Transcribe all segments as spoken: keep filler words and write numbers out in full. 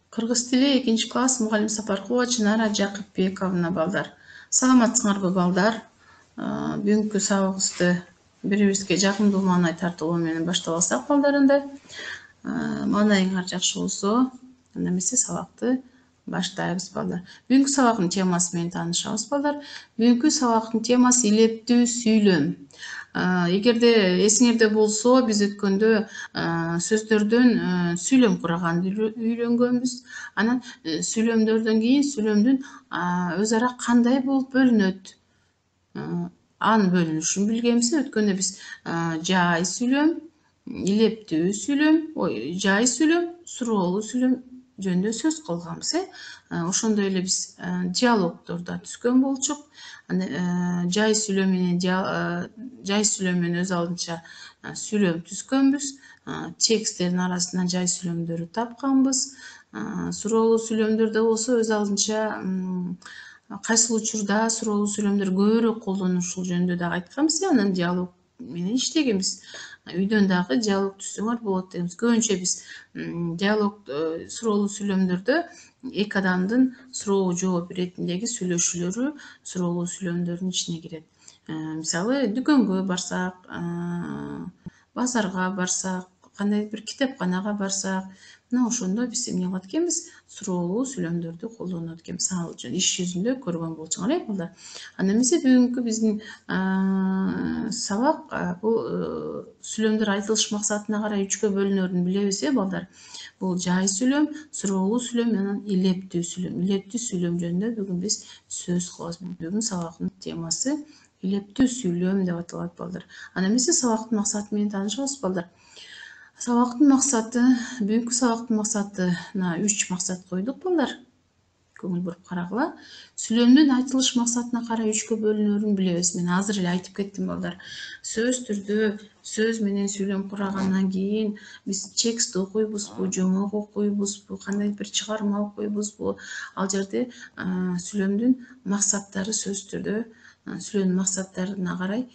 Кыргыз тили экинчи класс мугалим Сапаркулова Чынара Жакыпбековна балдар. Саламатсыңарбы балдар? Бүгүнкү сабагыбызды бири-бирибизге жакындуу маанай тартуу менен баштап алсак балдарында. Маанайыңар жакшы болсо, анда эмесе сабакты баштайбыз балдар. Бүгүнкү сабактын темасы менен таанышабыз балдар. Бүгүнкү сабактын темасы илептүү сүйлөм. Эгерде эсиңерде болсо, биз өткөндө сөздөрдөн сүйлөм кураганды үйрөнгөнбүз. Анан сүйлөмдөрдөн кийин сүйлөмдүн өз ара кандай болуп бөлүнөт, анын бөлүнүшүн билгенбиз. Өткөндө биз жай сүйлөм, илептүү сүйлөм, ой, жай сүйлөм, суроолуу сүйлөм жөнүндө сөз кылганбыз. Ошондой эле биз диалогдор да түзгөн болчук. Жай сүйлөм менен жай сүйлөм менен өз алдынча сүйлөм түзгөнбүз. Тексттердин арасынан жай сүйлөмдөрдү тапканбыз. Суроолуу сүйлөмдөрдө болсо өз алдынча кайсыл учурда суроолуу сүйлөмдөр көбүрөөк колдонулушу жөнүндө дагы айтканбыз. Анан диалог менен иштегенбиз. Үйдөн дагы диалог түзсөңөр болот дегенбиз. Көбүнчө биз диалог суроолуу сүйлөмдөрдө эки адамдын суроо жооп иретиндеги сүйлөшүүлөрү суроолуу сүйлөмдөрдүн ичине кирет. Мисалы, дүкөнгө барсак, базарга барсак, кандай бир китепканага барсак, мына ошондо биз эмне кылат экенбиз? Суроолуу сүйлөмдөрдү колдонот экенбиз. Ал үчүн иш жүзүндө көргөн болчуңар, э балдар. Анда эмесе бүгүнкү биздин сабак бул сүйлөмдөр айтылыш максатына карай үчкө бөлүнөрүн билебиз, э балдар. Бул жай сүйлөм, суроолуу сүйлөм менен илептүү сүйлөм. Илептүү сүйлөм жөнүндө бүгүн биз сөз кылабыз. Бүгүн сабактын темасы илептүү сүйлөм деп аталат балдар. Анда эмесе сабактын максаты менен таанышабыз балдар. Сабактын максаты, бүгүнкү сабактын максатына үч максат койдук балдар. Көңүл буруп карагыла. Сүйлөмдүн айтылыш максатына карай үчкө бөлүнөрүн билебиз. Мен азыр эле айтып кеттим балдар. Сөз түрдө сөз менен сүйлөм курагандан кийин биз текст окуйбузбу, жомок окуйбузбу, кандай бир чыгарма окуйбузбу? Ал жерде сүйлөмдүн максаттары сөз түрдө сүйлөмдүн максаттарына карай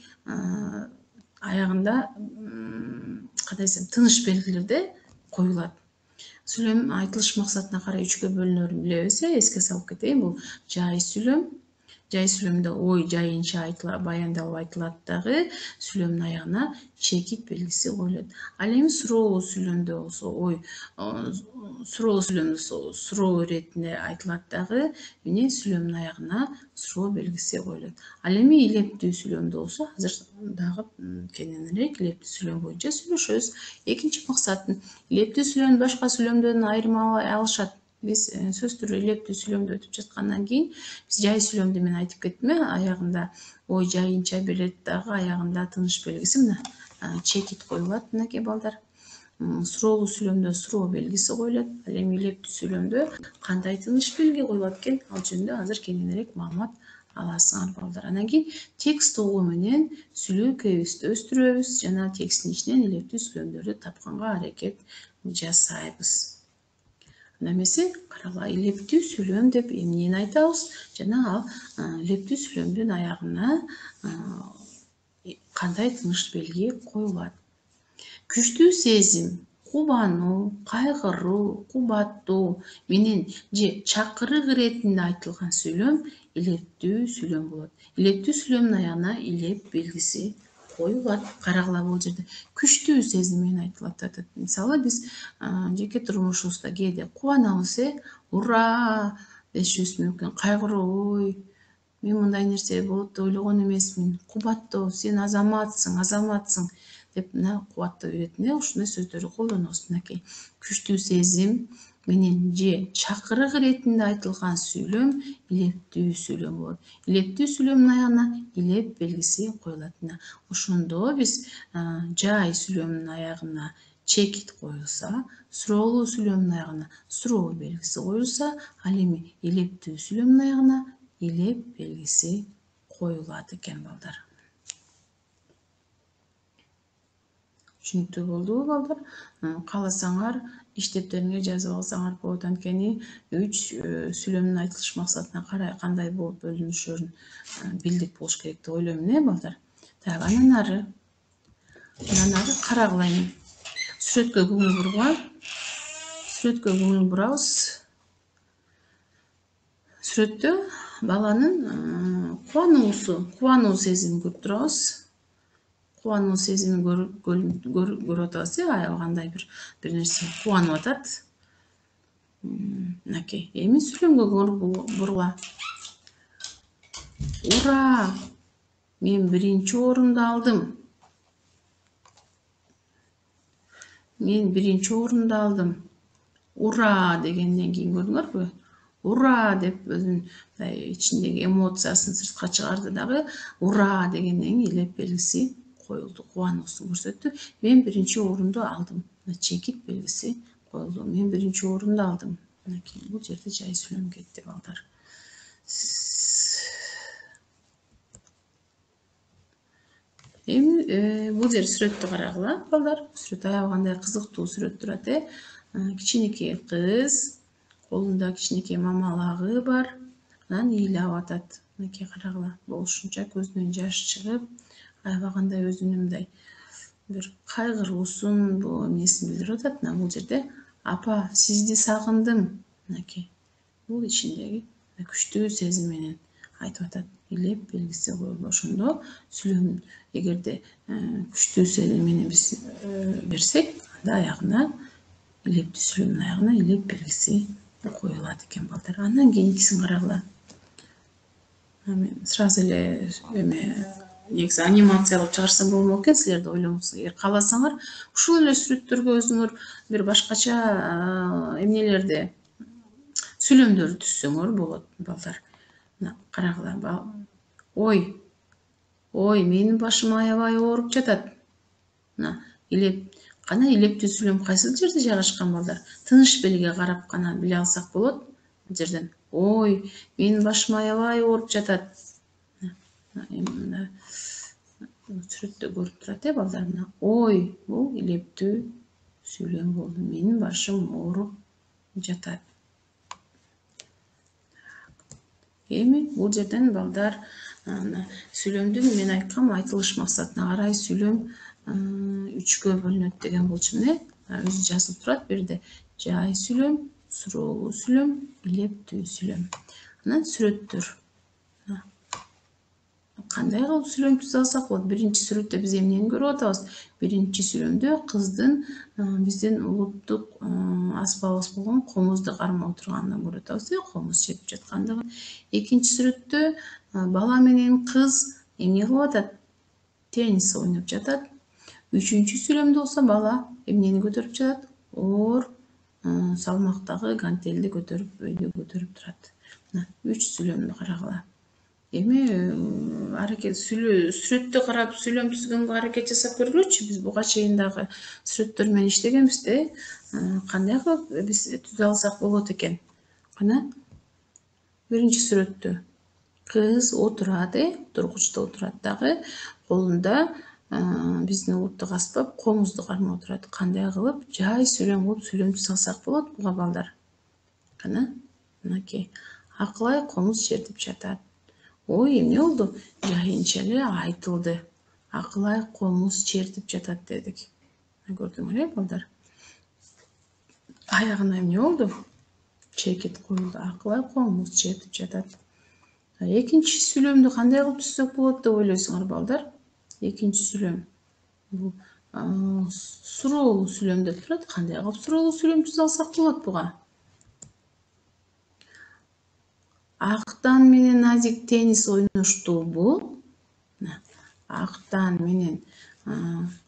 аягында кандай десем, тыныш белгилерде коюлат. Сүйлөм айтылыш максатына карай үчкө бөлүнөрүн билебиз. Эске салып кетейин. Бул жай сүйлөм. Жай сүйлөмдө ой жайынча айтылат, баяндалып айтылат дагы сүйлөмдүн аягына чекит белгиси коюлат. Ал эми суроолуу сүйлөмдө болсо, ой суроолуу сүйлөмдө суроо иретинде айтылат дагы эмне сүйлөмдүн аягына суроо белгиси коюлат. Ал эми илептүү сүйлөмдө болсо, азыр дагы кененирээк илептүү сүйлөм боюнча сүйлөшөбүз. Экинчи максаты илептүү сүйлөмдү башка сүйлөмдөрдөн айырмалай алышат. Биз сөз түрү илептүү сүйлөмдө өтүп жаткандан кийин биз жай сүйлөмдү мен айтып кеттим, э, аягында ой жайынча берет дагы аягында тыныш белгиси мына чекит коюлат, мынакей балдар. Суроолуу сүйлөмдө суроо белгиси коюлат. Ал эми илептүү сүйлөмдө кандай тыныш белги коюлат экен? Ал жөнүндө азыр кененирээк маалымат аласыңар балдар. Андан кийин текст угуу менен сүйлөкөйүбүздү өстүрөбүз жана тексттин ичинен илептүү сүйлөмдөрдү тапканга аракет жасайбыз. Анда эмесе карагыла, илептүү сүйлөм деп эмнени айтабыз? Жана ал илептүү сүйлөмдүн аягына кандай тыныш белги коюлат? Күчтүү сезим, кубануу, кайгыруу, кубаттуу менен же чакырык иретинде айтылган сүйлөм илептүү сүйлөм болот. Илептүү сүйлөмдүн аягына илеп белгиси коюлат. Карагыла, бул жерде күчтүү сезим менен айтылат атат. Мисалы, биз жеке турмушубузда кээде кубанабыз, э, ура дешибиз мүмкүн. Кайгыруу, ой, мен мындай нерсе болот деп ойлогон эмесмин. Кубаттоо, сен азаматсың, азаматсың деп мына кубаттоо иретинде ушундай сөздөрдү колдонобуз. Мынакей күчтүү сезим менен же чакырык иретинде айтылган сүйлөм илептүү сүйлөм болот. Илептүү сүйлөмдүн аягына илеп белгиси коюлат. Ошондо биз жай сүйлөмдүн аягына чекит коюлса, суроолуу сүйлөмдүн аягына суроо белгиси коюлса, ал эми илептүү сүйлөмдүн аягына илеп белгиси коюлат экен балдар. Түшүнүктүү болдубу балдар? Кааласаңар иштептериңерге жазып алсаңар болот. Анткени үч сүйлөмдүн айтылыш максатына карай кандай болуп бөлүнүшөрүн билдик болуш керек деп ойлойм, э балдар. Так, анан ары анан ары карагыла эми. Сүрөткө көңүл бургула. Сүрөткө көңүл бурабыз. сүрөттө баланын кубануусу, кубануу сезимин көрүп турабыз. Кубануу сезимин көрүп атабыз э, аябай кандай бир бир нерсе кубанып атат. Мынакей. Эми сүйлөмгө бурула. Ура! Мен биринчи орунду алдым. Мен биринчи орунду алдым. Ура дегенден кийин көрдүңөрбү? Ура деп өзүнүн ичиндеги эмоциясын сыртка чыгарды дагы. Ура дегенден кийин илеп белгиси коюлду, кубануусун көрсөттү. Мен биринчи орунду алдым. Чекит белгиси коюлду. Мен биринчи орунду алдым. Мынакей, бул жерде жай сүйлөм кетти балдар. Эми бул жер сүрөттү карагыла балдар. Сүрөт аябай кандай кызыктуу сүрөт турат э. Кичинекей кыз, колунда кичинекей мамалагы бар. Анан ыйлап атат. Мынакей карагыла. Болушунча көзүнөн жаш чыгып, аябай кандай өзүнүн мындай бир кайгыруусун, бул эмнесин билдирип атат. Мына бул жерде апа, сизди сагындым. Мынакей. Бул ичиндеги күчтүү сезим менен айтып атат. Илеп белгиси коюлду. Ошондо сүйлөм эгерде күчтүү сезим менен биз берсек, анда аягына илептүү сүйлөмдүн аягына илеп белгиси коюлат экен балдар. Андан кийинкисин карагыла. Мен сразу эле эме негизи анимациялап чыгарсам болмок экен, силерди ойлоңуз. Эгер кааласаңар, ушул эле сүрөттөргө өзүңөр бир башкача эмнелерди, сүйлөмдөрдү түзсөңөр болот балдар. Мына карагыла. Ой, ой, менин башым аябай ооруп жатат. Мына илеп, кана илептүү сүйлөм кайсыл жерде жайгашкан балдар? Тыныч белге карап кана биле алсак болот. Бул жерден ой, менин башым аябай ооруп жатат. Мына сүрөттө көрүп турат э балдар. Мына ой, бул илептүү сүйлөм болду. Менин башым ооруп жатат. Эми бул жерден балдар сүйлөмдүн мен айткам айтылыш максатына карай сүйлөм үчкө бөлүнөт деген болчумун э. Өзү жазылып турат бирде. Жай сүйлөм, суроолуу сүйлөм, илептүү сүйлөм. Анан сүрөттөр. Кандай кылып сүйлөм түзө алсак болот? Биринчи сүрөттө биз эмнени көрүп атабыз? Биринчи сүйлөмдө кыздын биздин улуттук аспабыбыз болгон комузду кармап отурганын көрүп атабыз э, комуз чертип жаткандыгын. Экинчи сүрөттө бала менен кыз эмне кылып атат? Теннис ойноп жатат. Үчүнчү сүйлөмдө болсо бала эмнени көтөрүп жатат? Оор салмактагы гантелди көтөрүп, өйдө көтөрүп турат. Мына үч сүйлөмдү карагыла. Эми аракет сүрөттү карап сүйлөм түзгөнгө аракет жасап көргүлөчү. Биз буга чейин дагы сүрөттөр менен иштегенбиз да. Кандай кылып биз түзө алсак болот экен? Кана биринчи сүрөттө кыз отурат э, тургучта отурат дагы, колунда биздин улуттук аспап комузду кармап отурат. Кандай кылып жай сүйлөм кылып сүйлөм түзө алсак болот буга балдар? Кана мынакей. Акылай комуз чертип жатат. Ой, эмне болду? Жайынча эле айтылды. Акылай комуз чертип жатат дедик. Көрдүңөр э балдар? Аягына эмне болду? Чекит коюлду. Акылай комуз чертип жатат. Экинчи сүйлөмдү кандай кылып түзсөк болот деп ойлойсуңар балдар? Экинчи сүйлөм бул суроолуу сүйлөм деп турат. Кандай кылып суроолуу сүйлөм түзө алсак болот буга? Актан менен Назик теннис ойноштубу? Актан менен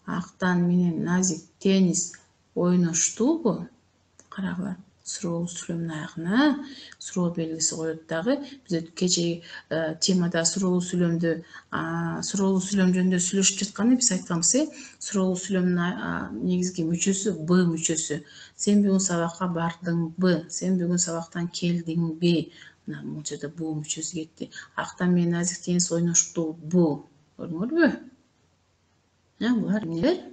Актан менен Назик теннис ойноштубу? Карагыла. Суроолуу сүйлөмдүн аягына суроо белгиси коет дагы. Биз кечеги темада суроолуу сүйлөмдү, суроолуу сүйлөм жөнүндө сүйлөшүп жатканда биз айтканбыз э, суроолуу сүйлөмдүн негизги мүчөсү Б мүчөсү. Сен бүгүн сабакка бардыңбы? Сен бүгүн сабактан келдиңби? Мына бул жерде бу мүчөсү кетти. Актан менен Назик теннис ойноштубу? Көрдүңөрбү? Булар эмнелер?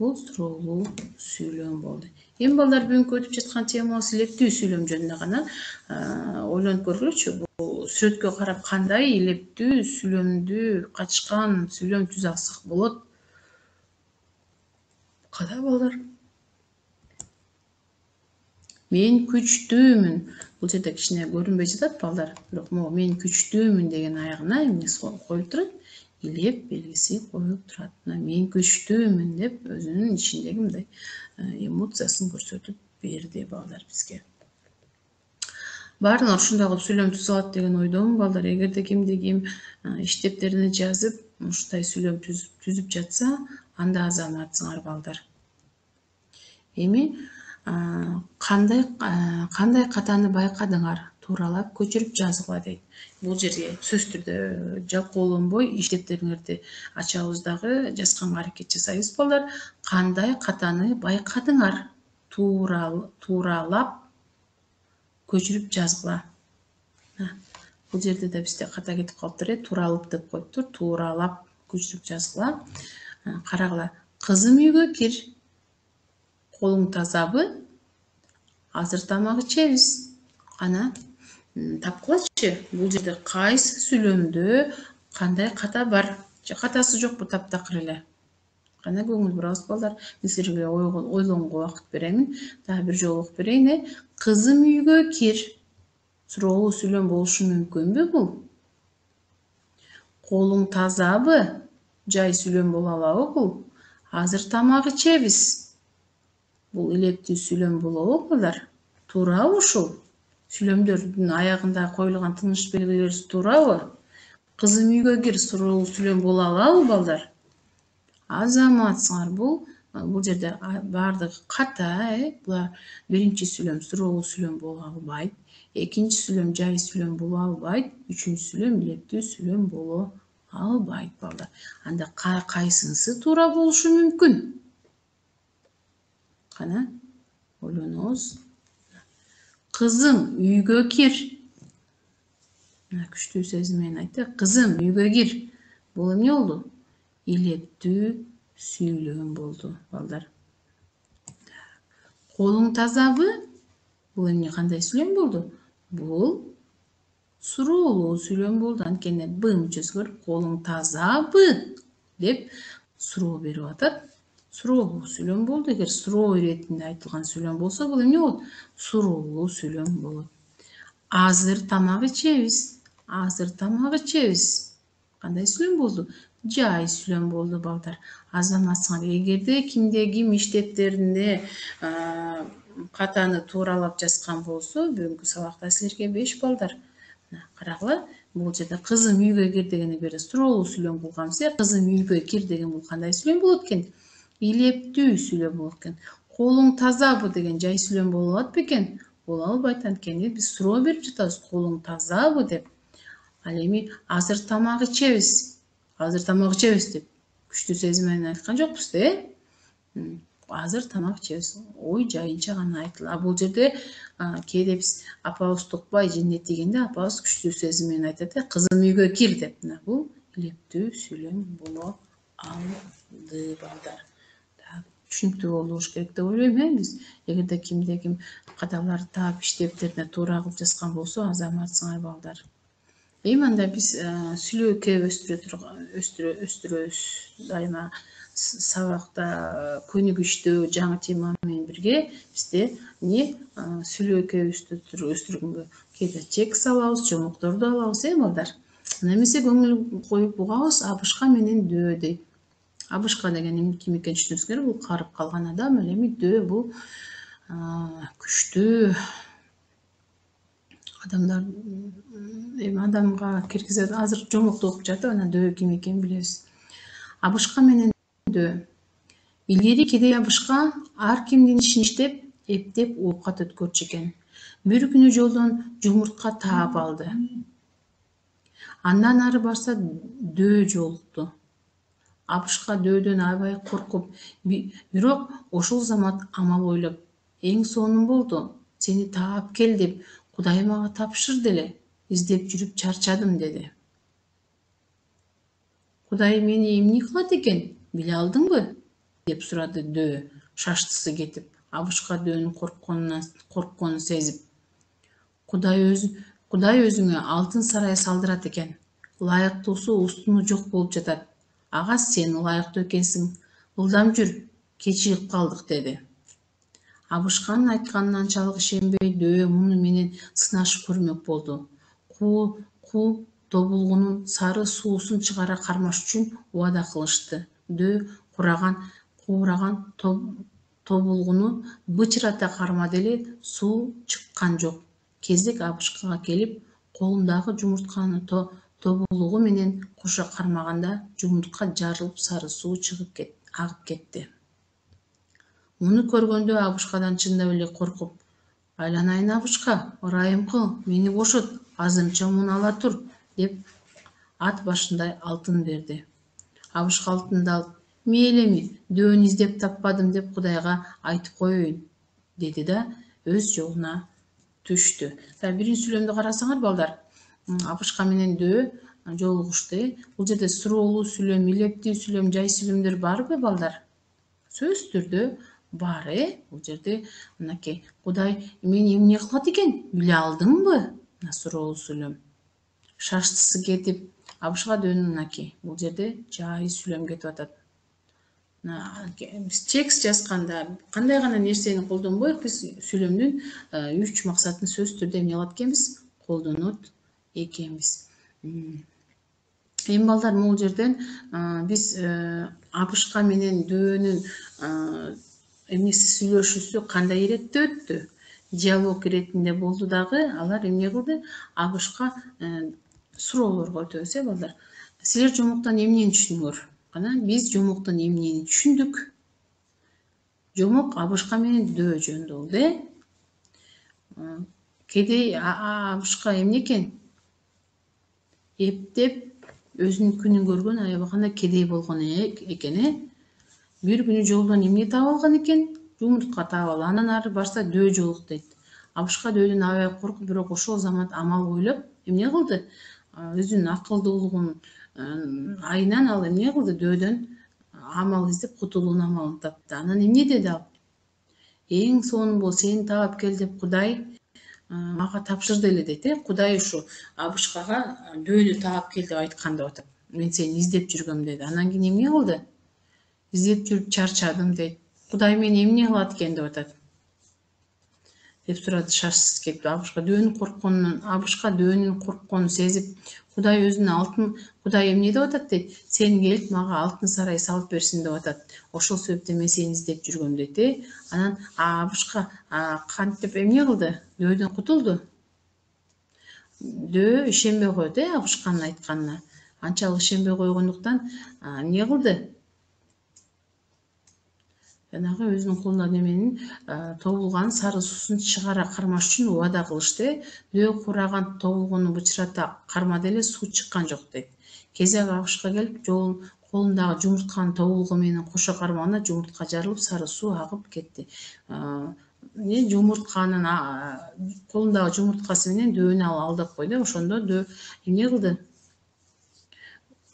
Бул суроолуу сүйлөм болду. Эми балдар бүгүнкү өтүп жаткан темабыз илептүү сүйлөм жөнүндө гана ойлонуп көргүлөчү. Бул сүрөткө карап кандай илептүү сүйлөмдү качкан сүйлөм түзө алсак болот? Кандай балдар? Мен күчтүүмүн. Бул жерде кичине көрүнбөй жатат балдар. Бирок могу мен күчтүүмүн деген аягына эмне коюлуп турат? Илеп белгиси коюлуп турат. Мына мен күчтүүмүн деп өзүнүн ичиндеги мындай эмоциясын көрсөтүп берди балдар бизге. Баарын ушундай кылып сүйлөм түзүп алат деген ойдомун балдар. Эгерде кимде ким иштептерине жазып, ушундай сүйлөм түзүп жатса, анда азаматсыңар балдар. Эми кандай кандай катаны байкадыңар? Тууралап көчүрүп жазгыла дейт. Бул жерге сөзсүз түрдө жалкоолонбой иштептериңерди ачабыз дагы жазганга аракет жасайбыз балдар. Кандай катаны байкадыңар? Тууралап көчүрүп жазгыла. Бул жерде да бизде ката кетип калыптыр, тууралып деп коюптур. Тууралап көчүрүп жазгыла. Карагыла. Кызым үйгө кир. Колуң тазабы? Азыр тамак ичебиз. Кана тапкылачы. Бул жерде кайсы сүйлөмдө кандай ката бар? Же катасы жокпу таптакыр эле? Кана көңүл бурабыз балдар. Мен силерге ойлонууга убакыт беремин. Дагы бир жолу окуп берейин. Кызым үйгө кир. Суроолуу сүйлөм болушу мүмкүнбү бул? Колуң тазабы? Жай сүйлөм боло алабы бул? Азыр тамак ичебиз. Бул илептүү сүйлөм болобу балдар? Туурабы ушул? Сүйлөмдөрдүн аягында коюлган тыныш белгилери туурабы? Кызым үйгө кир суроолуу сүйлөм боло алабы балдар? Азаматсыңар. Бул бул жерде баардыгы ката, э? Булар биринчи сүйлөм суроолуу сүйлөм боло албайт. Экинчи сүйлөм жай сүйлөм боло албайт. Үчүнчү сүйлөм илептүү сүйлөм боло албайт балдар. Анда кайсынысы туура болушу мүмкүн? Кана ойлонобуз. Кызым үйгө кир. Мына күчтүү сезим менен айтты. Кызым үйгө кир. Бул эмне болду? Илептүү сүйлөм болду балдар. Колуң тазабы? Бул эмне кандай сүйлөм болду? Бул суроолуу сүйлөм болду. Анткени б мүчөсү көрүп, колуң тазабы деп суроо берип атат. Суроолуу сүйлөм болду. Эгер суроо иретинде айтылган сүйлөм болсо, бул эмне болот? Суроолуу сүйлөм болот. Азыр тамак ичебиз. Азыр тамак ичебиз. Кандай сүйлөм болду? Жай сүйлөм болду балдар. Азаматсыңар. Эгерде кимде ким иштептеринде катаны тууралап жазган болсо, бүгүнкү сабакта силерге беш балдар. Карагыла, бул жерде кызым үйгө кир дегени бери суроолуу сүйлөм кылганбыз, э? Кызым үйгө кир деген бул кандай сүйлөм болот экен? Илептүү сүйлөм болот экен. Колуң тазабы деген жай сүйлөм боло алат бекен? Боло албайт, анткени биз суроо берип жатабыз. Колуң тазабы деп. Ал эми азыр тамак ичебиз. Азыр тамак ичебиз деп күчтүү сезим менен айткан жокпуз, э? Азыр тамак ичебиз. Ой жайынча гана айтылат. А бул жерде кээде биз апабыз тукпай жендет дегенде апабыз күчтүү сезим менен айтат, э? Кызым үйгө кир деп. Мына бул илептүү сүйлөм боло алды балдар. Түшүнүктүү болуш керек деп ойлойм, э? Биз эгерде кимде ким каталарды таап иштептерине туура кылып жазган болсо, азаматсыңар балдар. Эми анда биз сүйлөккө өстүрө өстүрөбүз. Дайыма сабакта көнүгүчтүү жаңы тема менен бирге бизде эмне сүйлөккө өстүргөнгө кээде текст алабыз, жомокторду алабыз, э балдар? Немесе көңүл коюп угабыз, абышка менен дөө дейт. Абышка деген ким экенин түшүнүңүз керек. Бул карып калган адам. Ал эми дөө бул күчтүү адамдар эми адамга киргизет. Азыр жомокту окуп жатып, анан дөө ким экенин билебиз. Абышка менен дөө. Илгери кедей абышка ар кимдин ишин иштеп, эптеп оокат өткөрчү экен. Бир күнү жолдон жумуртка таап алды. Андан ары барса дөө жолукту. Абышка дөөдөн аябай коркуп, бирок ошол замат амал ойлоп, эң сонун болду. Сени таап кел деп Кудай мага тапшырды эле. Издеп жүрүп чарчадым деди. Кудай мени эмне кылат экен, биле алдыңбы? Деп сурады дөө, шаштысы кетип, абышкадөөнүн коркконунан коркконун сезип. Кудай өз Кудай өзүңө алтын сарай салдырат экен. Ылайыктуусу устуну жок болуп жатат. Ага сен ылайыктуу экенсиң. Ылдам жүр, кеч чыгып калдык деди. Абышканын айтканына анчалык ишенбей, Дөө муну менен сынашып көрмөк болду. Ку тобулгунун сары суусун чыгара кармаш үчүн убада кылышты. Дөө кураган куураган тобулгуну бычырата кармады эле, суу чыккан жок. Кезек Абышкага келип, колундагы жумуртканы тобулгу менен кошо кармаганда, жумуртка жарылып, сары суу чыгып агып кетти. Муну көргөндө Абышкадан чындап эле коркуп: «Айланайын Абышка, ырайым кыл, мени бошот, азырынча муну ала тур», деп ат башындай алтын берди. Абышка алтынды алып: «Мейлими, Дөөнү издеп таппадым деп Кудайга айтып коеюн», деди да өз жолуна түштү. Биринчи сүйлөмдү карасаңар балдар, Абышка менен Дөө жолугушту. Бул жерде суроолуу сүйлөм, илептүү сүйлөм, жай сүйлөмдөр барбы балдар? Сөзсүз түрдө бар, э? Бул жерде мынакей Кудай мени эмне кылат экен, биле алдыңбы? Мына суроолуу сүйлөм. Шаштысы кетип, Абышка Дөөнү мынакей. Бул жерде жай сүйлөм кетип атат. Биз текст жазганда кандай гана нерсени колдонбойк, биз сүйлөмдүн үч максатын сөзсүз түрдө эмне кылат экенбиз? Колдонот экенбиз. Эми балдар, бул жерден биз Абышка мененДөөнүн эмнеси сүйлөшүүсү кандай иретте өттү? Диалог иретинде болду дагы. Алар эмне кылды? Абышка суроолорго өтөбүз, э балдар. Силер жомоктон эмнени түшүндүңөр? Кана биз жомоктон эмнени түшүндүк? Жомок Абышка менен Дөө жөнүндө болду, э? Кедей Абышка эмне экен? Эптеп өзүнүн күнүн көргөн аябаганда кедей болгон экен, э? Бир күнү жолдон эмне таап алган экен? Жумуртка таап алган. Андан ары барса Дөө жолукту дейт. Абышка Дөөдөн аябай коркуп, бирок ошол замат амал ойлоп эмне кылды? Өзүнүн акылдуулугунун айынан ал эмне кылды? Дөөдөн амал издеп кутулуунун амалын тапты. Анан эмне деди ал? Эң сонун сени таап кел деп Кудай мага тапшырды эле дейт, э? Кудай ушу Абышкага Дөөнү таап кел деп айткан деп атат. Мен сени издеп жүргөм деди. Анан кийин эмне кылды? Издеп жүрүп чарчадым дейт. Кудай мени эмне кылат экен деп атат. Деп сурады шашсыз кетип. Абышка Дөөнүн коркконунан, Абышка Дөөнүн коркконун сезип, Кудай өзүнүн алтын, Кудай эмне деп атат дейт? Сен келип мага алтын сарай салып берсин деп атат. Ошол себептен мен сени издеп жүргөм дейт, э? Анан Абышка кантип эмне кылды? Дөөдөн кутулду. Дөө ишенбей коет, э, Абышканын айтканына. Анчалык ишенбей койгондуктан эмне кылды? Жанагы өзүнүн колунда неменин тобулган сары суусун чыгара кармаш үчүн убада кылышты. Дөө кураган тобулгуну бычырата кармады эле, суу чыккан жок дейт. Кезек Абышка келип, жолун колундагы жумуртканы тобулгу менен кошо кармаганда, жумуртка жарылып, сары суу агып кетти. Жумуртканын колундагы жумурткасы менен Дөөнү ал алдап койду. Ошондо Дөө эмне кылды?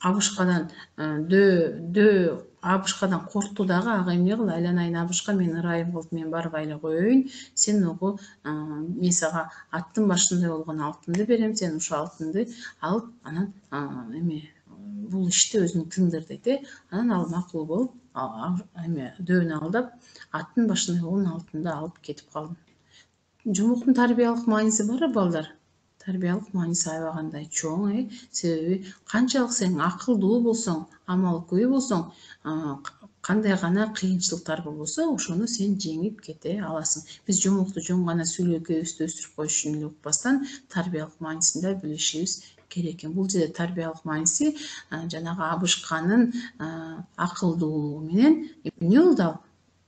Абышкадан Дөө Дөө Абышкадан коркту дагы. Ага эмне кылды? Айланайын Абышка, мен ырайым кылып, мен барып айла коеюн. Сен могу мен сага аттын башындай болгон алтынды берем. Сен ушул алтынды алып, анан эме бул ишти өзүң тындыр дейт, э? Анан ал макул болуп, эме Дөөнү алдап, аттын башындай болгон алтынды алып кетип калды. Жомоктун тарбиялык мааниси бар, балдар. Тарбиялык мааниси аябагандай чоң, э? Себеби канчалык сен акылдуу болсоң, амалкөй болсоң, кандай гана кыйынчылыктар болбосо, ошону сен жеңип кете аласың. Биз жомокту жөн гана сүйлөкөбүздү өстүрүп коюш үчүн эле укпастан, тарбиялык маанисин да билишибиз керек экен. Бул жерде тарбиялык мааниси жанагы Абышканын акылдуулугу менен эмне болду ал?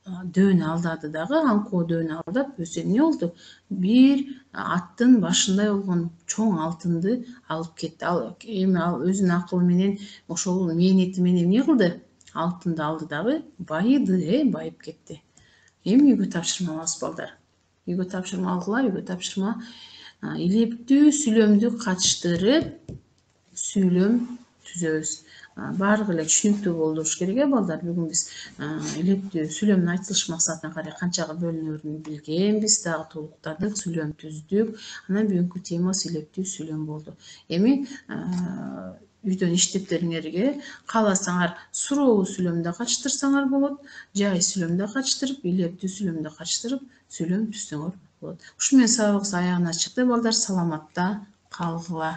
Дөөнү алдады дагы, аңкоо Дөөнү алдап, өзү эмне болду? Бир аттын башындай болгон чоң алтынды алып кетти. Ал эми ал өзүнүн акылы менен, ошол мээнети менен эмне кылды? Алтынды алды дагы, байыды, э, байып кетти. Эми үйгө тапшырма алабыз, балдар. Үйгө тапшырма алгыла, үйгө тапшырма илептүү сүйлөмдү катыштырып сүйлөм түзөбүз. Баардыгы эле түшүнүктүү болуш керек, э, балдар. Бүгүн биз илептүү сүйлөмдүн айтылыш максатына карай канчага бөлүнөрүн билгенбиз, дагы толуктадык, сүйлөм түздүк. Анан бүгүнкү темабыз илептүү сүйлөм болду. Эми үйдөн иштептериңерге кааласаңар суроолуу сүйлөмдө качтырсаңар болот, жай сүйлөмдө качтырып, илептүү сүйлөмдө качтырып сүйлөм түзсөңөр болот. Ушу менен сабагыбыз аягына чыкты балдар, саламатта калгыла.